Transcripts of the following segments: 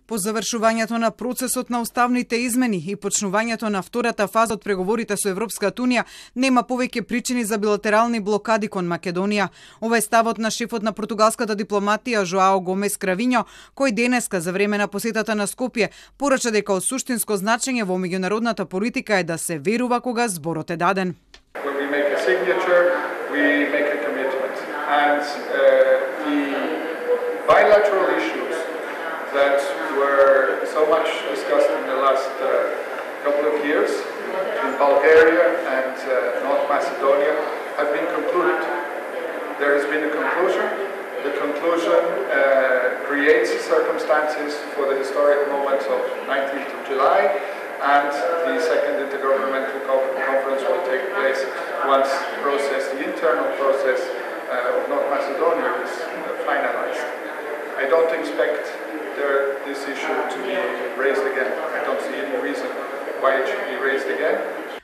По завршувањето на процесот на уставните измени и почнувањето на втората фаза од преговорите со Европската унија, нема повеќе причини за билатерални блокади кон Македонија. Ова е ставот на шефот на португалската дипломатија Жоао Гомес Кравињо, кој денеска за време на посетата на Скопје порача дека од суштинско значење во меѓународната политика е да се верува кога зборот е даден. That were so much discussed in the last couple of years in Bulgaria and North Macedonia have been concluded. There has been a conclusion. The conclusion creates circumstances for the historic moment of 19th of July, and the second intergovernmental conference will take place once the internal process of North Macedonia is finalized. I don't expect this issue to be raised again. I don't see any reason why it should be raised again.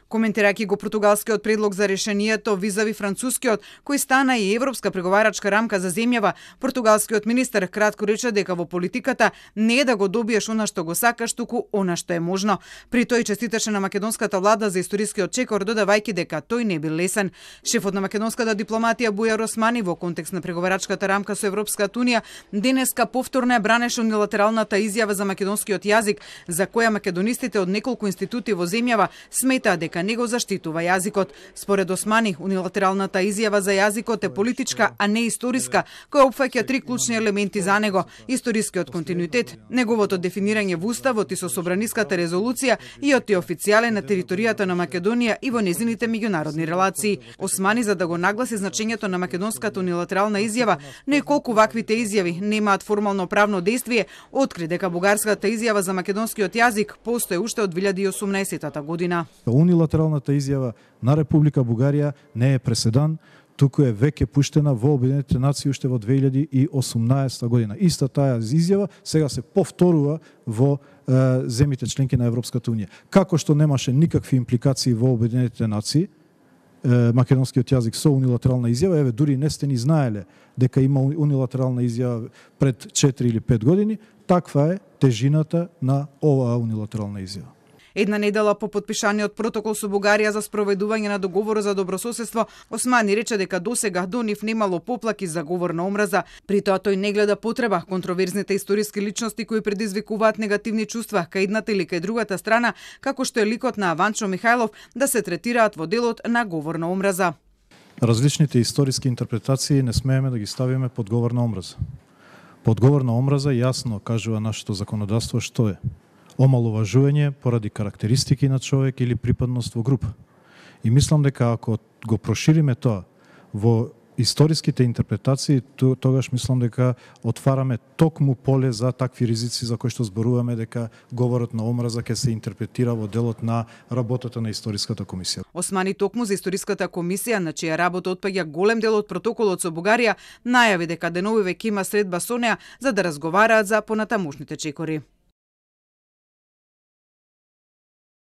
Коментирајќи го португалскиот предлог за решението визави францускиот, кој стана и европска преговарачка рамка за земјава, португалскиот министер кратко рече дека во политиката не е да го добиеш она што го сакаш, туку она што е можно. При тој честиташе на македонската влада за историскиот чекор, додавајќи дека тој не бил лесен. Шефот на македонската дипломатија Бујар Османи во контекст на преговарачката рамка со Европската унија денеска повторно ја бранеше унилатералната изјава за македонскиот јазик, за која македонистите од неколку институти во земјава сметаат дека не го заштитува јазикот. Според Османи, унилатералната изјава за јазикот е политичка, а не историска, која опфаќа три клучни елементи за него: историскиот континуитет, неговото дефинирање во уставот и со собраниската резолуција и од официјален на територијата на Македонија и во незините меѓународни релации. Османи, за да го нагласи значењето на македонската унилатерална изјава, но и колку ваквите изјави немаат формално правно дејствие, откри дека бугарската изјава за македонскиот јазик постои уште од 2018 година. Унилатералната изјава на Република Бугарија не е преседан, туку е веќе пуштена во Обединетите нации уште во 2018 година. Иста таа изјава сега се повторува во земјите членки на Европската унија. Како што немаше никакви импликации во Обединетите нации, македонскиот јазик со унилатерална изјава, еве дури не сте ни знаеле дека има унилатерална изјава пред 4 или 5 години, таква е тежината на оваа унилатерална изјава. Една недела по потпишаниот протокол со Бугарија за спроведување на договорот за добрососедство, Османи рече дека досега до нив немало поплаки за говор на омраза. При тоа тој не гледа потреба контроверзните историски личности кои предизвикуваат негативни чувства кај едната или кај другата страна, како што е ликот на Аванчо Михајлов, да се третираат во делот на говор на омраза. Различните историски интерпретации не смееме да ги ставиме под говор на омраза. Под говор на омраза јасно кажува нашето законодавство што е омаловажување поради карактеристики на човек или припадност во група. И мислам дека ако го прошириме тоа во историските интерпретации, тогаш мислам дека отвараме токму поле за такви ризици за кои што зборуваме дека говорот на омраза ќе се интерпретира во делот на работата на историската комисија. Османи токму за историската комисија, на чија работа отпаѓа голем дел од протоколот со Бугарија, најави дека деновиве ќе има средба со неа за да разговараат за понатамошните чекори.